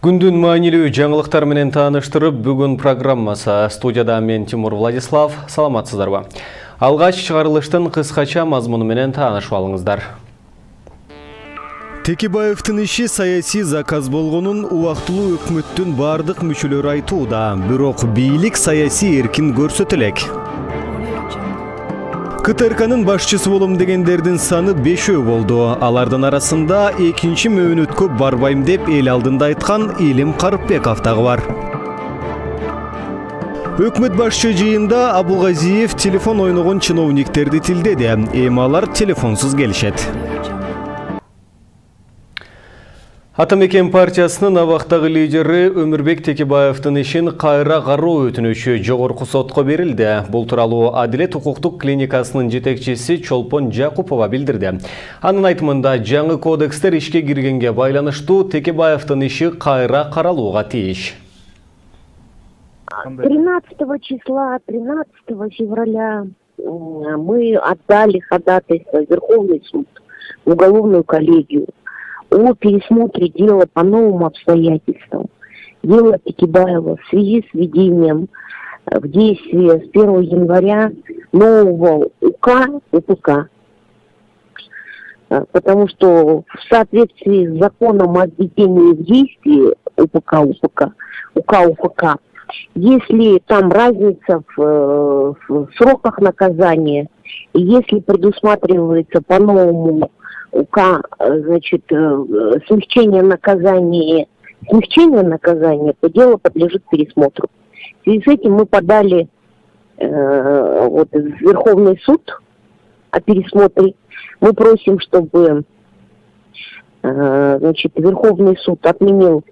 Күндүн маанилүү жаңылыктар менен тааныштырып, бүгүн программасы. Студияда мен Тимур Владислав. Саламатсыздарбы? Алгач чыгарылыштын кыскача мазмуну менен таанышып алыңыздар. Текебаевдин иши саясий заказ болгонун убактылуу өкмөттүн бардык мүчөлөрү айтууда, бирок бийлик саясий эркин көрсөтө элек. КТРКнын башчысы болом дегендердин саны 5 болду. Алардын арасында экинчи мөөнөткө барбайм деп эл алдында айткан Илим Карыпбеков дагы бар. Өкмөт башчы жыйында Абулгазиев телефон ойногон чиновниктерди тилдеди. Эми алар телефонсуз келишет. Атамекен партиясынын абактагы лидери Өмүрбек Текебаевдин ишин кайра кароо өтүнүчү жогорку сотко берилди. Бул тууралуу Адилет укуктук клиникасынын жетекчиси Чолпон Жакупова билдирди. Анын айтымында жаңы кодекстер ишке киргенге байланыштуу Текебаевдин иши кайра каралууга тийиш. 13 числа, 13 февраля мы отдали ходатайство в Верховный суд, в уголовную коллегию о пересмотре дела по новым обстоятельствам. Дело Текебаева в связи с введением в действие с 1 января нового УК, потому что в соответствии с законом о введении в действие УК, если там разница в сроках наказания, и если предусматривается по новому УК, значит, смягчение наказания, то дело подлежит пересмотру. В связи с этим мы подали в Верховный суд о пересмотре. Мы просим, чтобы Верховный суд отменил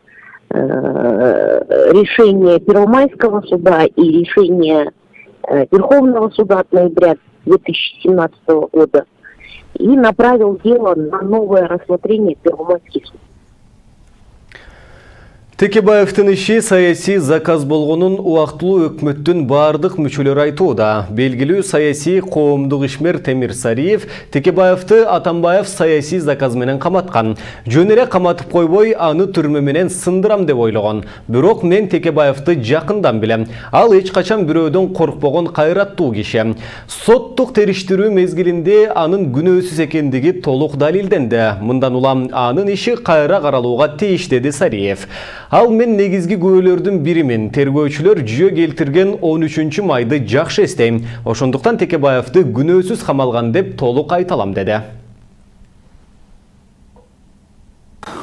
решение Первомайского суда и решение Верховного суда от ноября 2017 года и направил дело на новое рассмотрение в Первомайский суд. Текебаевдин иши саясий заказ болгонун убактылуу өкмөттүн бардык мүчөлөрү айтууда. Белгилүү саясий коомдук ишмер Темир Сариев Текебаевди Атамбаев саясий заказ менен каматкан. Жөн эле каматып койбой, аны түрмө менен сындырам деп ойлогон. Бирок мен Текебаевди жакындан билем. Ал эч качан бирөөдөн коркпогон кайраттуу киши. Соттук териштирүү мезгилинде анын күнөөсүз экендиги толук далилденди. Мындан улам анын иши кайра каралууга тийиш, деди Сариев. Ал мен негизги күбөлөрдүн биримин. Тергөөчүлөр жүйө келтирген 13 майды жакшы эстейм. Ошондуктан Текебаевди күнөөсүз камалган деп толук айта алам, деди.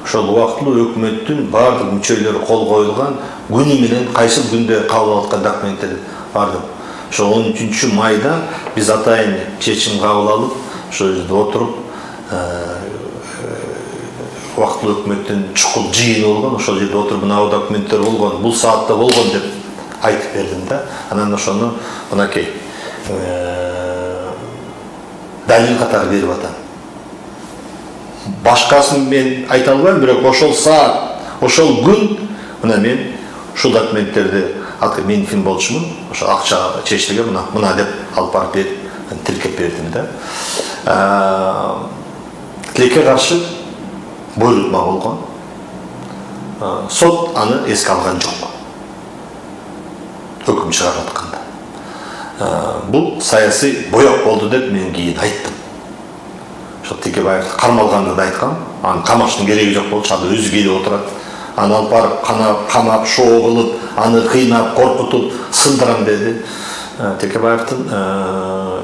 Ошол убактылуу өкмөттүн бардык мүчөлөрү кол коюлган күнү менен кайсы күндө кабыл алып аткан документтер барды. Ошо 13 майда биз атайын чечим кабыл алып, ошол жерде отуруп, убактылуу өкмөттүн чукул жыйыны болгон, ошол жерде отуруп мына документтер болгон, бул саатта болгон деп айтып бердим да. Анан ошону мынакей далил катары берип атам. Башкасын мен айта албайм, бирок ошол саат, ошол күн мына мен ушул документтерди меникин болчумун, ошо акча чечилген мына деп алып барып берип, тиркеп бердим да. Тилекке каршы буйрутма болгон. Сот аны эске алган жок. Өкүм чыгарып атканда. Бул саясий боек болду деп мен кийин айттым. Ошо Текебаев кармалганды да айткам. Аны камаштын кереги жок болчу, ал өзү келип отурат. Аны алып барып камап, шоо кылып, аны кыйнап, коркутуп, сындырам деди. Текебаевдин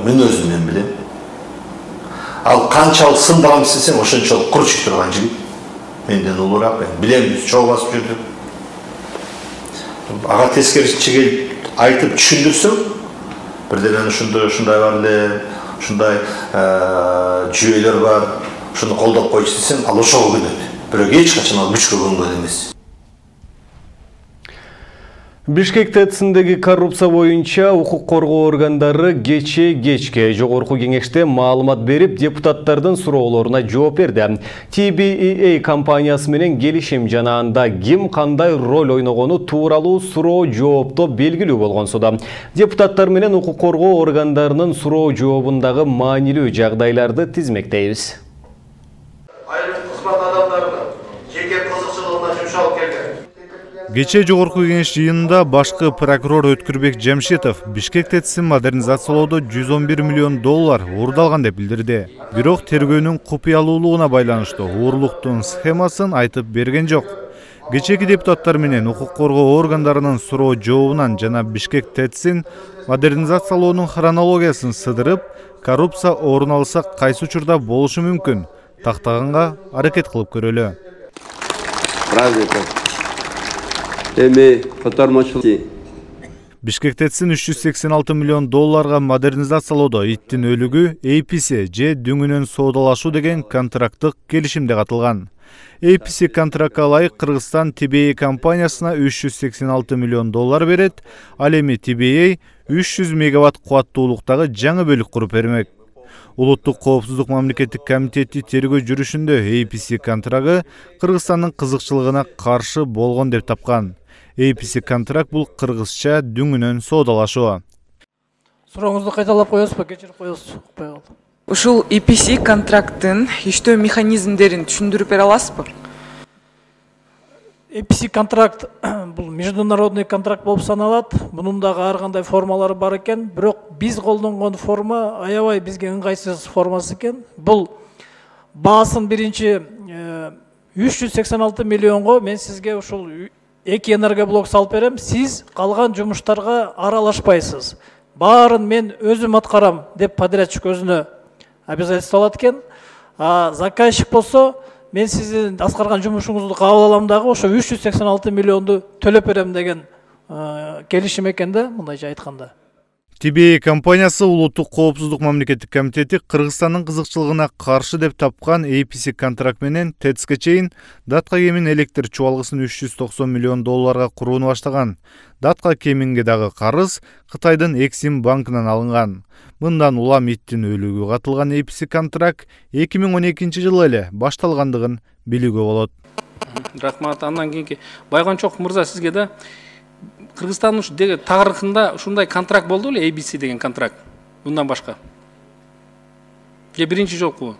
мүнөзүн мен билем. Ал канчалык сындырам десең, ошончолук курчуп турган жигит. Менден улураак, мен билем, чоо басып жүрдүк. Ага тескерисинче келип айтып түшүндүрсөм, бирден ушундай бар эле, ушундай жүйөлөр бар, ушуну колдоп койчу десем, ал ошого көнөт. Бирок эч качан ал күчкө көнгөн эмес. Бишкек ТЭЦ-индеги коррупция боюнча укук коргоо органдары кечке жогорку кеңеште маалымат берип, депутаттардын суроолоруна жооп берди. TBEA компаниясы менен келишим жана анда ким кандай роль ойногону тууралуу суроо жоопто белгилүү болгон суда. Депутаттар менен укук коргоо органдарынын суроо жообундагы маанилүү жагдайларды тизмектейбиз. Айрым кызмат адамдарынын жеке кызыкчылыгына жумшалып келген Кечээ жогорку кеңеш жыйынында башкы прокурор Өткүрбек Жамшитов Бишкек ТЭЦин модернизациялоодо 111 миллион доллар уурдалган деп билдирди. Бирок тергөөнүн купуялуулугуна байланыштуу уурлуктун схемасын айтып берген жок. Кечээки депутаттар менен укук коргоо органдарынын суроо жообунан жана Бишкек ТЭЦин модернизациялоонун хронологиясын сыдырып, коррупция орун алса кайсы учурда болушу мүмкүн тактаганга аракет кылып көрөлү. Бишкек ТЭЦин 386 миллион долларга модернизациялоодо иттин өлүгү APC же дүңүнөн соодалашуу деген контракттык келишимде катылган. APC контрактка ылайык Кыргызстан TBA компаниясына 386 миллион доллар берет, ал эми TBA 300 мегаватт кубаттуулуктагы жаңы бөлүк куруп бермек. Улуттук коопсуздук мамлекеттик комитети тергөө жүрүшүндө APC контрагы Кыргызстандын кызыкчылыгына каршы болгон деп тапкан. APC контракт бул кыргызча дүңүнөн соодалашуу. Сурооңузду кайталап коесузбу, кечирип коесуз, укпай калдым. Ушул APC контракттын иштөө механизмдерин түшүндүрүп бере аласызбы? APC контракт бул международный контракт болуп саналат. Мунун дагы ар кандай формалары бар экен, бирок биз колдонгон форма аябай бизге ыңгайсыз формасы экен. Бул баасын биринчи 386 миллионго мен сизге ушул 2 энергоблок салып берем, сиз калган жумуштарга аралашпайсыз. Баарын мен өзүм аткарам деп подрядчик өзүнө обязательство алат экен. Заказчик болсо мен сиздин аткарган жумушуңузду кабыл алам дагы ошо 386 миллионду төлөп берем деген келишим экен да, мындайча айтканда. TBA компаниясы улуттук коопсуздук мамлекеттик комитети Кыргызстандын кызыкчылыгына каршы деп тапкан APC контракт менен ТЭЦке чейин датка кемин электр чубалгысын 390 миллион долларга курууну баштаган. Датка кеминге дагы карыз Кытайдын Эксим банкынан алынган. Мындан улам иттин өлүгү катылган APC контракт 2012 жылы эле башталгандыгын билүүгө болот. Рахмат. Андан кийинки Байгончоков мырза, сизге да Кыргызстандын тарыхында ушундай контракт болду беле, ABC деген контракт? Мындан башка. Же биринчи жолку?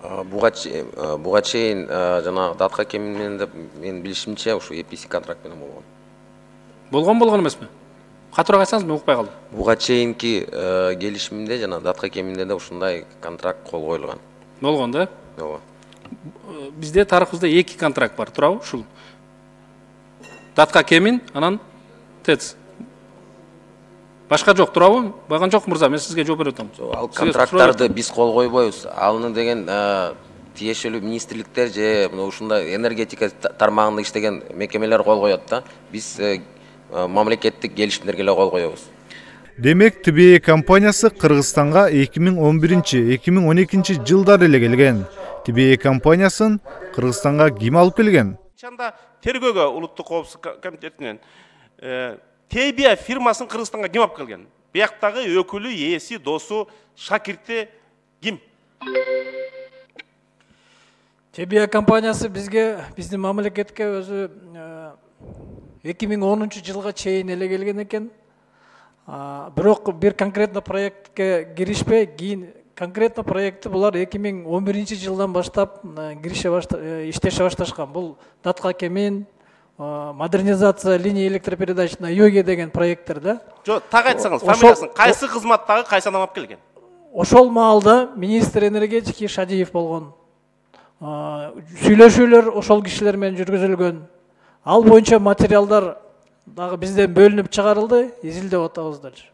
Буга чейин жана датка кеминен деп мен билишимче ушу APC контракт менен болгон. Болгон эмеспи? Катуураак айтсаңыз, мен укпай калдым. Буга чейинки келишимде жана датка кеминде да ушундай контракт кол коюлган. Болгон да? Ооба. Бизде тарыхыбызда 2 контракт бар, туурабы ушул? Датка кемин, анан ТЭЦ. Башка жок, туурабы? Байгончоков мырза, мен сизге жооп берип атам. Ал контракттарды биз кол койбойбуз. Алны деген тиешелүү министрликтер же ушундай энергетика тармагында иштеген мекемелер кол коет да. Биз мамлекеттик келишимдерге эле кол коебуз. Демек, TBA компаниясы Кыргызстанга 2011-2012 жылдары эле келген. TBA компаниясын Кыргызстанга ким алып келген? Тергөөгө улуттук коопсуздук комитетинен TBA фирмасын Кыргызстанга ким алып келген? Бияктагы өкүлү, ээси, досу, шакирти ким? TBA компаниясы бизге, биздин мамлекетке өзү 2010 жылга чейин эле келген экен. Бирок бир конкретно проектке киришпей, кийин конкретно проектти булар 2011 жылдан баштап иштеше башташкан. Бул датка кемин, модернизация линия электропередач на юге деген проекттер да. Жок, так айтсаңыз, фамилиясын кайсы кызматтагы кайсы адам алып келген? Ошол маалда министр энергетики Шадиев болгон. Сүйлөшүүлөр ошол кишилер менен жүргүзүлгөн. Ал боюнча материалдар дагы бизден бөлүнүп чыгарылды, изилдеп атабыз дальше.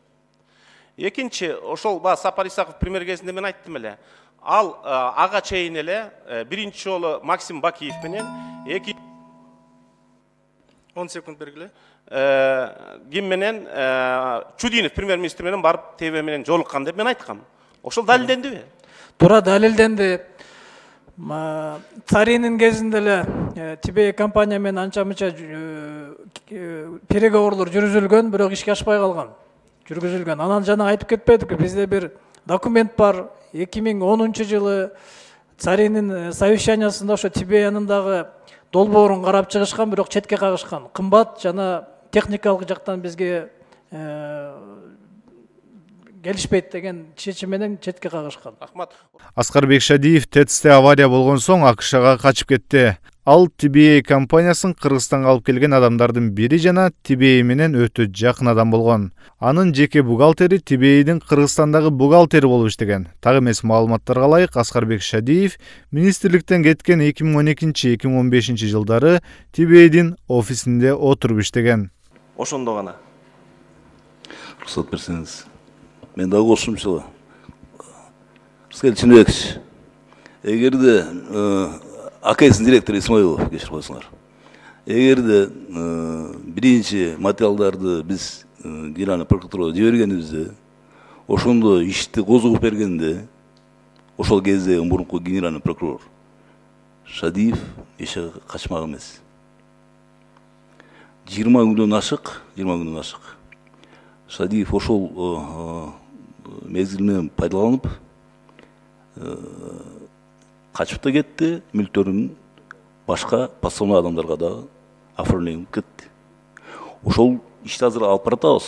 Экинчи, ошол Сапар Исаков премьер кезинде мен айттым эле. Ал ага чейин эле биринчи жолу Максим Бакиев менен 10 секунд бергиле. Ким менен Чудинов премьер-министр менен барып ТВ менен жолуккан деп мен айткам. Ошол далилдендиби? Туура далилденди. Царинин кезинде эле TBA компания менен анча-мынча переговорлор жүргүзүлгөн, бирок ишке ашпай калган. Жүргүзүлгөн. Анан жана айтып кетпедикпи, бизде бир документ бар. 2010 жылы Царинин совещаниясында ошо TBA-нын дагы долбоорун карап чыгышкан, бирок четке кагышкан. Кымбат жана техникалык жактан бизге келишпейт деген чечим менен четке кагышкан. Рахмат. Аскарбек Шадиев ТЭЦте авария болгон соң АКШга качып кетти. Ал TBA компаниясын Кыргызстанга алып келген адамдардын бири жана TBA менен өтө жакын адам болгон. Анын жеке бухгалтери TBA'дин Кыргызстандагы бухгалтери болуп иштеген. Так эмес маалыматтарга ылайык Аскарбек Шадиев министрликтен кеткен 2012-2015 жылдары TBA'дин офисинде отуруп иштеген. Ошондо гана. Рұқсат берсеңиз. Мен дагы кошумча. Рыскел Чынбекович. Эгерде АКС директору Исмаилов кеширип койсуңар. Эгерде биринчи материалдарды биз Генеральный прокуратурага жибергенибизде, ошондо ишти козгоп бергенде, ошол кезде мурунку генеральный прокурор Шадиев эшеге качмак эмес. 20 күндөн ашык. Шадиев ошол мезгил менен пайдаланып качып да кетти, мүлктөрүн башка пассионный адамдарга да оформленип кетти. Ошол ишти азыр алып баратабыз.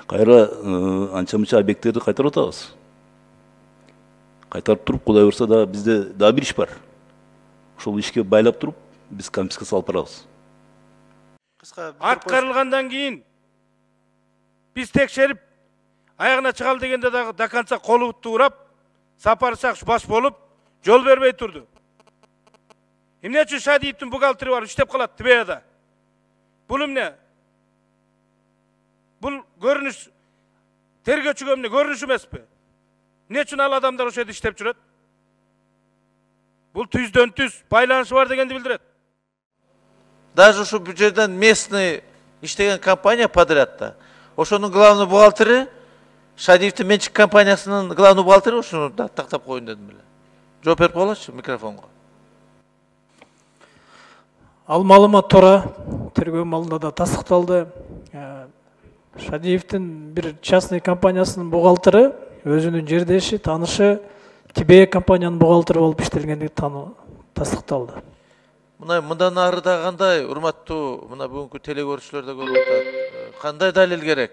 Кайра анча-мынча объекттерди кайтарып атабыз. Кайтарып туруп, Кудай буйрса да бизде да бир иш бар. Ошол ишке байлап туруп, биз конфискация алып барабыз. Аткарылгандан кийин биз текшерип, аягына чыгал дегенде дагы до конца колу урап, Сапар Исаков баш болуп, жол бербей турду. Эмне үчүн Шадиевдин бухгалтери бар иштеп калат ТБАда? Бул эмне? Бул көрүнүш тергөөчүгө эмне көрүнүш эмеспи? Эмне үчүн ал адамдар ошол жерде иштеп жүрөт? Бул түздөн түз байланышы бар дегенди билдирет. Даже ушу бюджеттен местный иштеген компания подрядта. Ошонун главный бухгалтери Шадиевдин менчик компаниясынын главный бухгалтери ошону тактап коюн дедим эле. Жооп берип коелачы микрофонго. Ал маалымат туура, тергөө маалында да тастыкталды. Шадиевдин бир частный компаниясынын бухгалтери өзүнүн жердеши, таанышы TBA компаниянын бухгалтери болуп иштелгендиги тастыкталды. Мындан ары да кандай, урматтуу мына бүгүнкү телекөрүүчүлөр да көрүп атат. Кандай далил керек?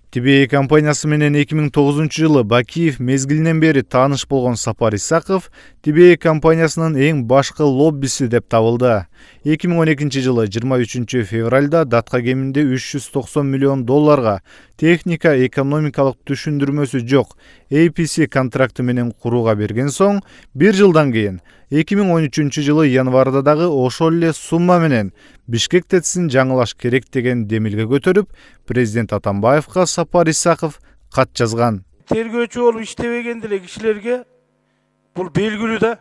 TBA компаниясы менен 2009 жылы Бакиев мезгилинен бери тааныш болгон Сапар Исаков TBA компаниясынын эң башкы лоббиси деп табылды. 2012 жылы 23 февралда датка кеминде 390 миллион долларга техника экономикалык түшүндүрмөсү жок APC контракты менен курууга берген соң, бир жылдан кийин 2013 жылы январда дагы ошол эле сумма менен Бишкек ТЭЦин жаңылаш керек деген демилге көтөрүп, президент Атамбаевга Сапар Исаков кат жазган. Тергөөчү болуп иштебеген деле кишилерге бул белгилүү да.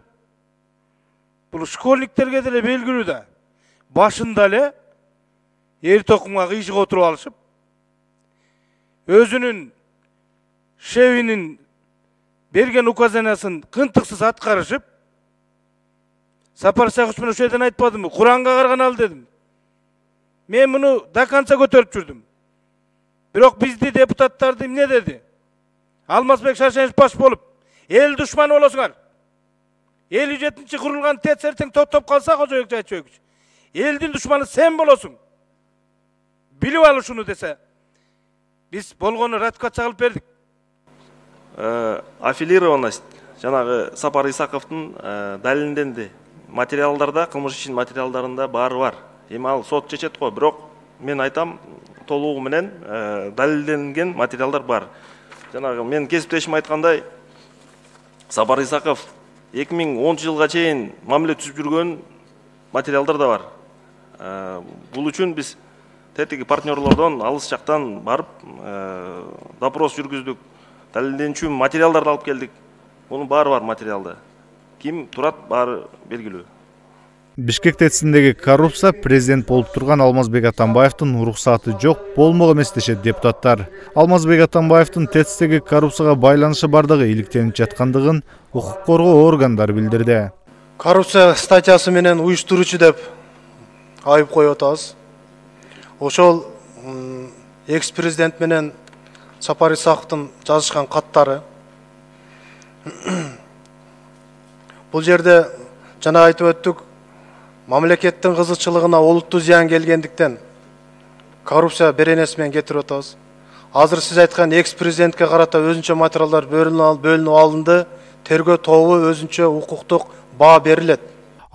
Бул школьниктерге деле белгилүү да. Башында эле эр токумга кыйшык отуруп алышып, өзүнүн шефинин берген указаниясын кынтыксыз аткарышып, Сапар Исакович мен ошол жерден айтпадымбы, Куранга карганалы дедим. Мен муну до конца көтөрүп жүрдүм. Бирок бизди депутаттарды эмне деди? Алмазбек Шаршенович баш болуп, эл душманы болосуңар. 57-чи курулган ТЭЦ эртең токтоп калса, Кожоек Жайчөбүч, элдин душманы сен болосуң. Билип ал ушуну десе, биз болгону ратификация кылып бердик. Аффилированность жанагы Сапар Исаковдун далилденди. Материалдарда, кылмыш ишин материалдарында баары бар. Эми ал сот чечет го, бирок мен айтам, толугу менен далилденген материалдар бар. Жанагы мен кесиптешим айткандай, Сапар Исаков 2010 жылга чейин мамиле түзүп жүргөн материалдар да бар. Бул үчүн биз тетиги партнерлордон алыс жактан барып допрос жүргүздүк, далилденүүчү материалдарды алып келдик. Бунун баары бар материалда. Ким турат баары белгилүү. Бишкек ТЭЦиндеги коррупция президент болуп турган Алмазбек Атамбаевдин уруксаты жок болмок эмес дешет депутаттар. Алмазбек Атамбаевдин ТЭЦтеги коррупцияга байланышы бардыгы иликтенип жаткандыгын укук коргоо органдары билдирди. Коррупция статьясы менен уюштуруучу деп айып коюп атабыз. Ошол экс-президент менен Сапар Исаковдун жазышкан каттары. Бул жерде жана айтып өттүк, мамлекеттин кызыкчылыгына олуттуу зыян келгендиктен коррупция беренеси менен кетирип атабыз. Азыр сиз айткан экс-президентке карата өзүнчө материалдар бөлүнүп алынды. Тергөө тобу өзүнчө укуктук баа берилет.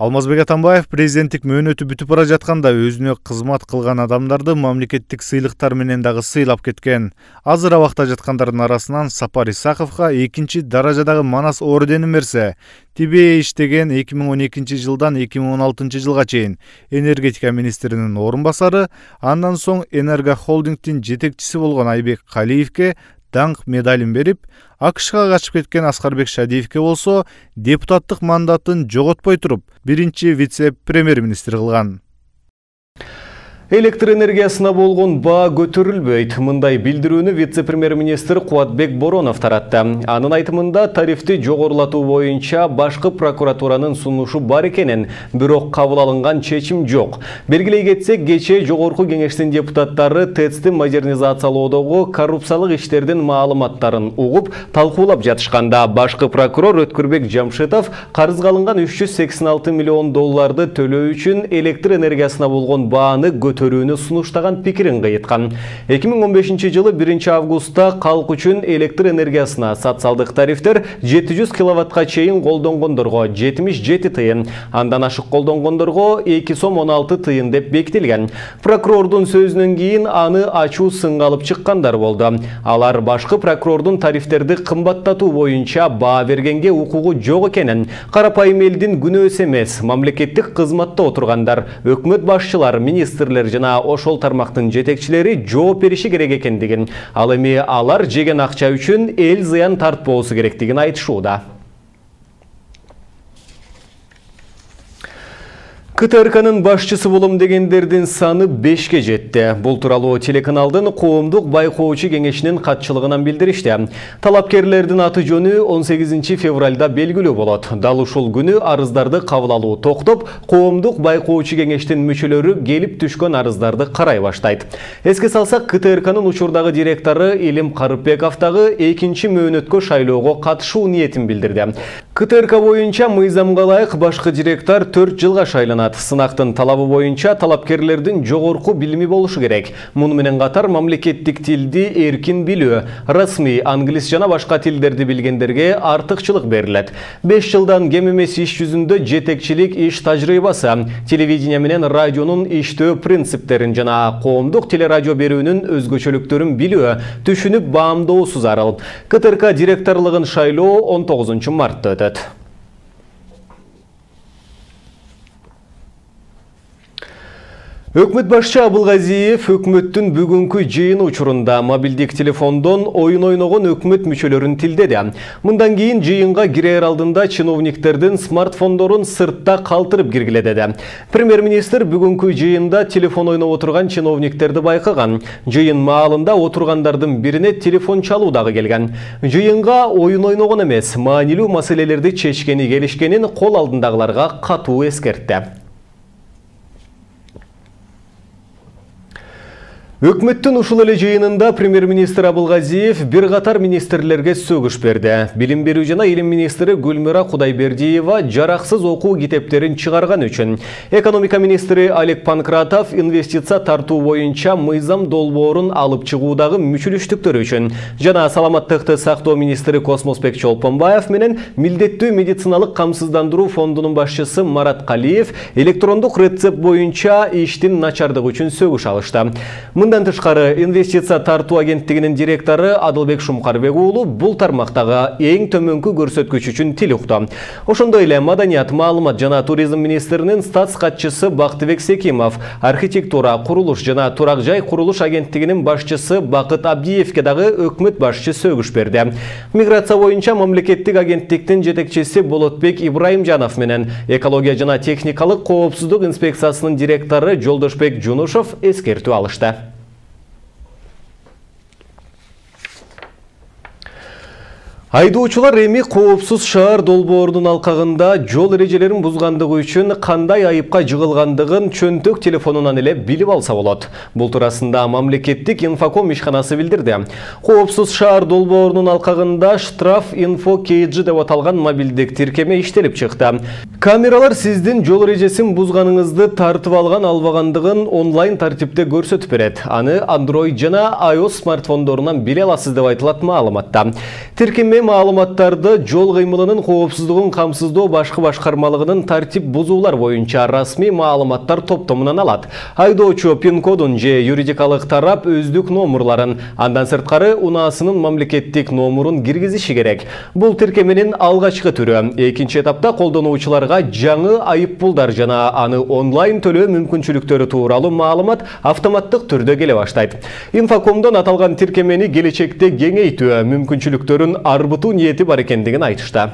Алмазбек Атамбаев президенттик мөөнөтү бүтүп бара жатканда өзүнө кызмат кылган адамдарды мамлекеттик сыйлыктар менен дагы сыйлап кеткен. Азыр абакта жаткандардын арасынан Сапар Исаковго 2 даражадагы Манас орденин берсе, Тибе иштеген 2012 жылдан 2016 жылга чейин энергетика министринин орун басары, андан соң Энерго холдингдин жетекчиси болгон Айбек Калиевке даңк медалин берип, АКШга качып кеткен Аскарбек Шадиевке болсо депутаттык мандатын жоготпой туруп, биринчи вице-премьер-министр кылган. Электр энергиясына болгон баа көтөрүлбөйт. Мындай билдирүүнү вице-премьер-министр Кубатбек Боронов таратты. Анын айтымында тарифти жогорулатуу боюнча башкы прокуратуранын сунушу бар экенин, бирок кабыл алынган чечим жок. Белгилей кетсек, кечээ жогорку кеңештин депутаттары ТЭЦти модернизациялоодогу коррупциялык иштердин маалыматтарын угуп, талкуулап жатышканда башкы прокурор Өткүрбек Жамшитов карызга алынган 386 миллион долларды төлөө үчүн электр энергиясына болгон бааны көрүүнү сунуштаган пикирин кыйыткан. 2015 жылы 1 августта калк үчүн электр энергиясына социалдык тарифтер 700 киловаттка чейин колдонгондорго 77 тыйын, андан ашык колдонгондорго 2 сом 16 тыйын деп бекитилген. Прокурордун сөзүнөн кийин аны ачуу сынга алып чыккандар болду. Алар башкы прокурордун тарифтерди кымбаттатуу боюнча баа бергенге укугу жок экенин, карапайым элдин күнөөсү эмес, мамлекеттик кызматта отургандар, өкмөт башчылар, министрлер жана ошол тармактын жетекчилери жооп бериши керек экендигин, ал эми алар жеген акча үчүн эл зыян тартпоосу керектигин айтышууда. КТРКнын башчысы болом дегендердин саны 5ке жетти. Бул тууралуу телеканалдын коомдук байкоочу кеңешинин катчылыгынан билдиришти. Талапкерлердин аты жөнү 18 февралда белгилүү болот. Дал ушул күнү арыздарды кабыл алуу токтоп, коомдук байкоочу кеңештин мүчөлөрү келип түшкөн арыздарды карай баштайт. Эске салсак, КТРКнын учурдагы директору Илим Карыпбеков дагы 2 мөөнөткө шайлоого катышуу ниетин билдирди. КТРК боюнча мыйзамга ылайык башкы директор 4 жылга шайланат. Сынактын талабы боюнча талапкерлердин жогорку билими болушу керек. Муну менен катар мамлекеттик тилди эркин билүү, расмий англис жана башка тилдерди билгендерге артыкчылык берилет. 5 жылдан кем эмес иш жүзүндө жетекчилик иш тажрыйбасы, телевидение менен радионун иштөө принциптерин жана коомдук телерадио берүүнүн өзгөчөлүктөрүн билүү, түшүнүп баамдоосу зарыл. КТРК директорлугун шайлоо 19 мартта өтөт. Өкмөт башчы Абылгазиев өкмөттүн бүгүнкү жыйыны учурунда мобилдик телефондон оюн ойногон өкмөт мүчөлөрүн тилдеди. Мындан кийин жыйынга кирер алдында чиновниктердин смартфондорун сыртта калтырып киргиле деди. Премьер-министр бүгүнкү жыйында телефон ойноп отурган чиновниктерди байкаган. Жыйын маалында отургандардын бирине телефон чалуу дагы келген. Жыйынга оюн ойногон эмес, маанилүү маселелерди чечкени келишкенин кол алдындагыларга катуу эскертти. Өкмөттүн ушул эле жыйынында премьер-министр Абылгазиев бир катар министрлерге сөгүш берди. Билим берүү жана илим министри Гүлмира Кудайбердиева жараксыз окуу китептерин чыгарган үчүн, экономика министри Олег Панкратов инвестиция тартуу боюнча мыйзам долбоорун алып чыгуудагы мүчүлүштүктөр үчүн, жана саламаттыкты сактоо министри Космосбек Чолпонбаев менен милдеттүү медициналык камсыздандыруу фондунун башчысы Марат Калиев электрондук рецепт боюнча иштин начардыгы үчүн сөгүш алышты. Мындан тышкары инвестиция тартуу агенттигинин директору Адылбек Шумкарбек уулу бул тармактагы эң төмөнкү көрсөткүч үчүн тил укту. Ошондой эле маданият, маалымат жана туризм министринин статс катчысы Бактыбек Секимов, архитектура, курулуш жана турак жай курулуш агенттигинин башчысы Бакыт Абдиевке дагы өкмөт башчы сөгүш берди. Миграция боюнча мамлекеттик агенттиктин жетекчиси Болотбек Ибраимжанов менен экология жана техникалык коопсуздук инспекциясынын директору Жолдошбек Жунушов эскертүү алышты. Айдоочулар эми коопсуз шаар долбоорунун алкагында жол эрежелерин бузгандыгы үчүн кандай айыпка жыгылгандыгын чөнтөк телефонунан эле билип алса болот. Бул туурасында мамлекеттик инфоком ишканасы билдирди. Коопсуз шаар долбоорунун алкагында штраф инфо KG деп аталган мобилдик тиркеме иштелип чыкты. Камералар сиздин жол эрежесин бузганыңызды тартып алган-албагандыгын онлайн тартипте көрсөтүп берет. Аны Android жана iOS смартфондорунан биле аласыз деп айтылат маалыматта. Тиркеме маалыматтарды жол кыймылынын коопсуздугун камсыздоо башкы башкармалыгынын тартип бузуулар боюнча расмий маалыматтар топтомунан алат. Айдоочу пин-кодун же юридикалык тарап өздүк номурларын, андан сырткары унаасынын мамлекеттик номурун киргизиши керек. Бул тиркеменин алгачкы түрү. Экинчи этапта колдонуучуларга жаңы айыппулдар жана аны онлайн төлөө мүмкүнчүлүктөрү тууралуу маалымат автоматтык түрдө келе баштайт. Инфокомдон аталган тиркемени келечекте кеңейтүү мүмкүнчүлүктөрүн арбытуу ниети бар экендигин айтышты.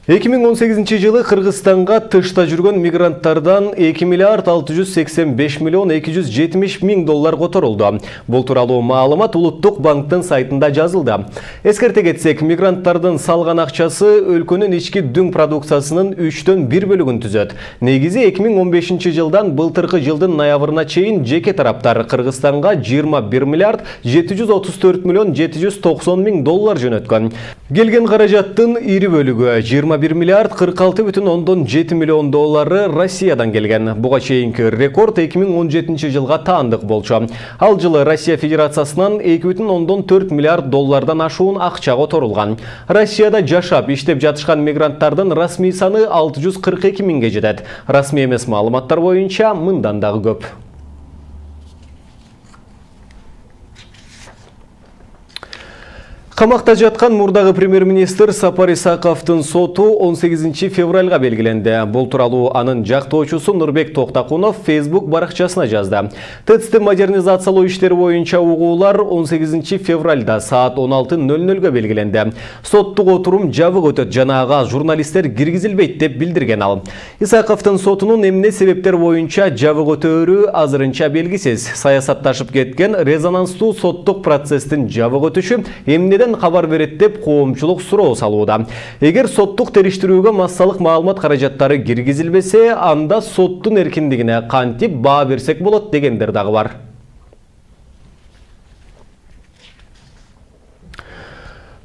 2018 жылы Кыргызстанга тышта жүргөн мигранттардан 2 миллиард 685 миллион 270 миң доллар которулду. Бул тууралуу маалымат Улуттук банктын сайтында жазылды. Эскерте кетсек, мигранттардын салган акчасы өлкөнүн ички дүң продукциясынын 3/1 бөлүгүн түзөт. Негизи 2015 жылдан былтыркы жылдын ноябрына чейин жеке тараптар Кыргызстанга 21 миллиард 734 миллион 790 миң доллар жөнөткөн. Келген каражаттын ири бөлүгү 21 миллиард 46,7 миллион доллары Россиядан келген. Буга чейинки рекорд 2017 жылга таандык болчу. Ал жылы Россия Федерациясынан 2,4 миллиард доллардан ашуун акча которулган. Россияда жашап, иштеп жатышкан мигранттардын расмий саны 642 миңге жетет. Расмий эмес маалыматтар боюнча мындан дагы көп. Камакта жаткан мурдагы премьер-министр Сапар Исаковдун соту 18 февралга белгиленди. Бул тууралуу анын жактоочусу Нурбек Токтакунов Facebook баракчасына жазды. ТЭЦти модернизациялоо иштери боюнча угуулар 18 февралда саат 16:00 белгиленди. Соттук отурум жабык өтөт жана ага журналисттер киргизилбейт деп билдирген ал. Исаковдун сотунун эмне себептер боюнча жабык өтөөрү азырынча белгисиз. Саясатташып кеткен резонанстуу соттук процесстин жабык өтүшү эмнеден хабар берет деп коомчулук суроо салууда. Эгер соттук териштирүүгө массалык маалымат каражаттары киргизилбесе, анда соттун эркиндигине кантип баа берсек болот дегендер дагы бар.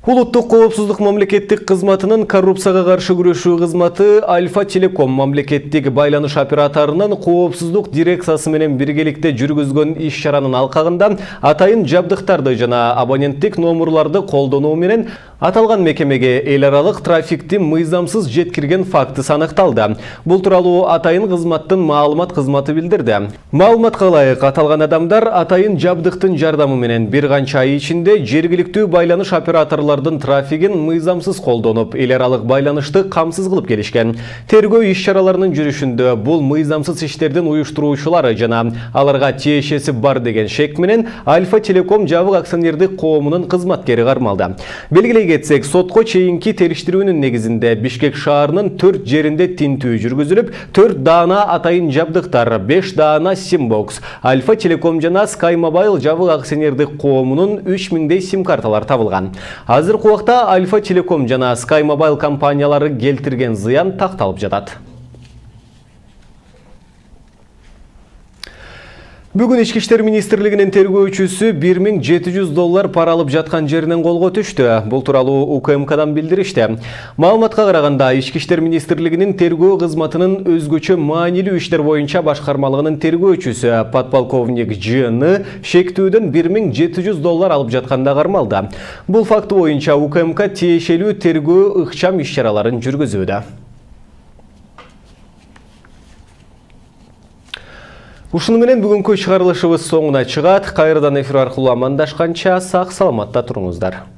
Улуттук коопсуздук мамлекеттик кызматынын коррупцияга каршы күрөшүү кызматы Альфа Телеком мамлекеттик байланыш операторунун коопсуздук дирекциясы менен биргеликте жүргүзгөн иш-чаранын алкагында атайын жабдыктарды жана абоненттик номурларды колдонуу менен аталган мекемеге эл аралык трафикти мыйзамсыз жеткирген фактысы аныкталды. Бул тууралуу атайын кызматтын маалымат кызматы билдирди. Маалыматка ылайык, аталган адамдар атайын жабдыктын жардамы менен бир канча ай ичинде жергиликтүү байланыш операторлордун трафигин мыйзамсыз колдонуп, эл аралык байланышты камсыз кылып келишкен. Тергөө иш-чараларынын жүрүшүндө бул мыйзамсыз иштердин уюштуруучулары жана аларга тиешеси бар деген шек менен Альфа Телеком жабык акционердик коомунун кызматкери кармалды. Белгилей кетсек, сотко чейинки териштирүүнүн негизинде Бишкек шаарынын 4 жеринде тинтүү жүргүзүлүп, 4 даана атайын жабдыктар, 5 даана симбокс, Альфа Телеком жана Sky Mobile жабык акционердик коомунун 3000дей сим-карталар табылган. Азыркы убакта Альфа Телеком жана Sky Mobile компаниялары келтирген зыян такталып жатат. Бүгүн Ички иштер министрлигинин тергөөчүсү 1700 доллар пара алып жаткан жеринен колго түштү. Бул тууралуу УКМКдан билдиришти. Маалыматка караганда, Ички иштер министрлигинин тергөө кызматынын өзгөчө маанилүү иштер боюнча башкармалыгынын тергөөчүсү подполковник Ж.Н. шектүүдөн 1700 доллар алып жатканда кармалды. Бул факты боюнча УКМК тиешелүү тергөө ыкчам иш-чараларын жүргүзүүдө. Ушуну менен бүгүнкү чыгарылышыбыз соңуна чыгат. Кайрадан эфир аркылуу амандашканча сак саламатта туруңуздар.